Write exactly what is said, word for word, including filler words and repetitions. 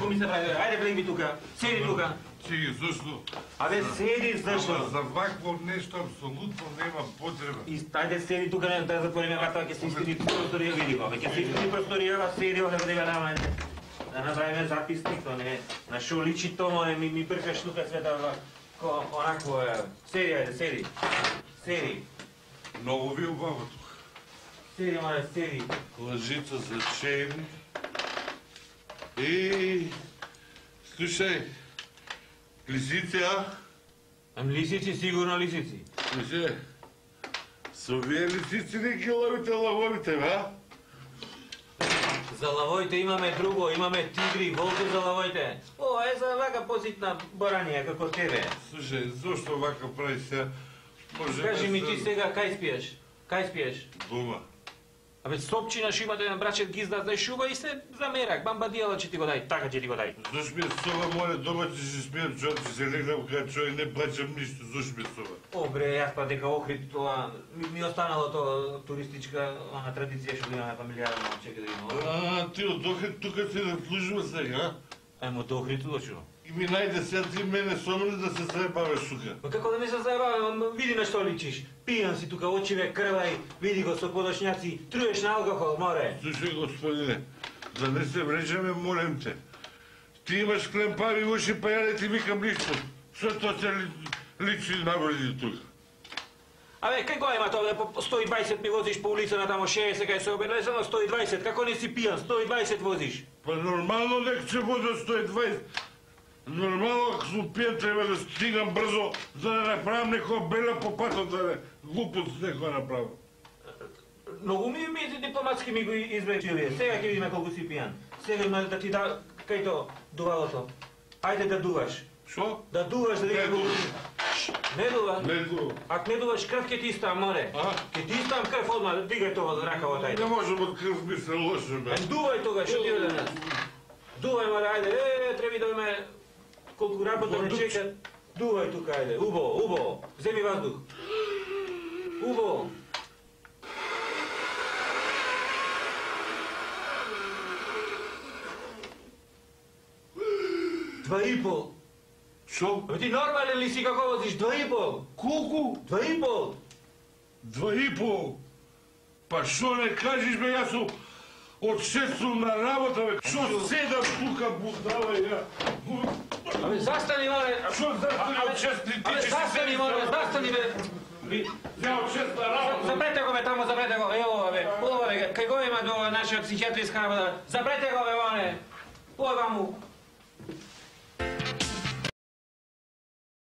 ми се прави? Ајде влеги тука. Седи тука. Чеки, зашто? Абе седи зашто? За вакво нешто апсолутно нема потреба. И ајде седи тука, не да затвориме врата, ќе се искри просторија, види го. Ќе се искри просторија, седи овде да нама. Да направиме записник, то не на шо личи то, море ми ми пркаш тука света ко онакво е. Седи, ајде, седи. Седи. Многу ви убаво тука. Седи, море, седи. Лъжица за чајник. И слушај, лисици, а? Ам лисици, сигурно лисици. Слушај, со вие лисици не ги ловите лавовите, а? За лавоите имаме друго, имаме тигри, волки за лавоите. О, е за вака поситна баранија како тебе. Слушај, зошто вака прави се? Може Кажи да ми се- ти сега кај спиеш? Кај спиеш? Дома. Абе сопчина шо имате на брачет гизда да шуба и се замерак, бамбадијала ќе ти го дај, така ќе ти го дај. Зошто ми е соба, море, дома ќе се спијам човек, ќе се легнам кај човек, не плачам ништо, зошто ми е соба? О, бре, јас па дека Охрид тоа, ми, ми останало тоа туристичка, она традиција што имаме фамилијарно, чека да има. А, ти од Охрид тука си да служува сега, а? Ајмо до Охрид дошо. И ми најде сега ти мене со мене да се заебаваш тука. Па како да ми се заебавам, види на што личиш. Пијан си тука, очиве крвај, види го со подошњаци, труеш на алкохол, море. Слушај, господине, да не се врежеме, молем те. Ти имаш клемпави уши, па ја не ти викам ништо. Што тоа се ли, личи навреди тука? Абе, кај го има тоа, по сто и дваесет ми возиш по улица на тамо шеесет, кај се обелезано сто и дваесет, како не си пијан, сто и дваесет возиш. Па нормално дека ќе возам сто и дваесет. Нормално, ако сум пијан, треба да стигам брзо, за да направам некоја бела по патот, да не глупост некоја направам. Многу ми ми дипломатски ми го извлечиле. Сега ќе видиме колку си пијан. Сега има да ти да кај то дувалото. Ајде да дуваш. Шо? Да дуваш да Не видиш. дувам. Не дува. Не дувам. Ако не дуваш крв ќе ти стам, море. А? Ќе ти стам крв одма, дигај тоа од ракавот, Не ајде. можем од крв ми се лоше, бе. Ај дувај тога, што ти веде нас. Дувај, море, ајде. Е, треба да име колку работа не чека. Дувај тука, ајде. Убаво, убаво. Земи ваздух. Убаво. Два и пол. Шо? Абе ти нормален ли си како возиш? Два и пол. Колку? Два и пол. Два и пол? Па шо не кажеш, бе, јас сум од шест сум на работа, бе. Шо седам тука, будала ја? Абе застани, море. Шо застани од шест? Ти Абе ќе застани, море, застани, бе. Ја од шест на работа. Запрете го, бе, тамо, запрете го. Ево, бе. Ова, бе, кај го има до нашиот психијатриска работа. Запрете го, бе, море. Ова му.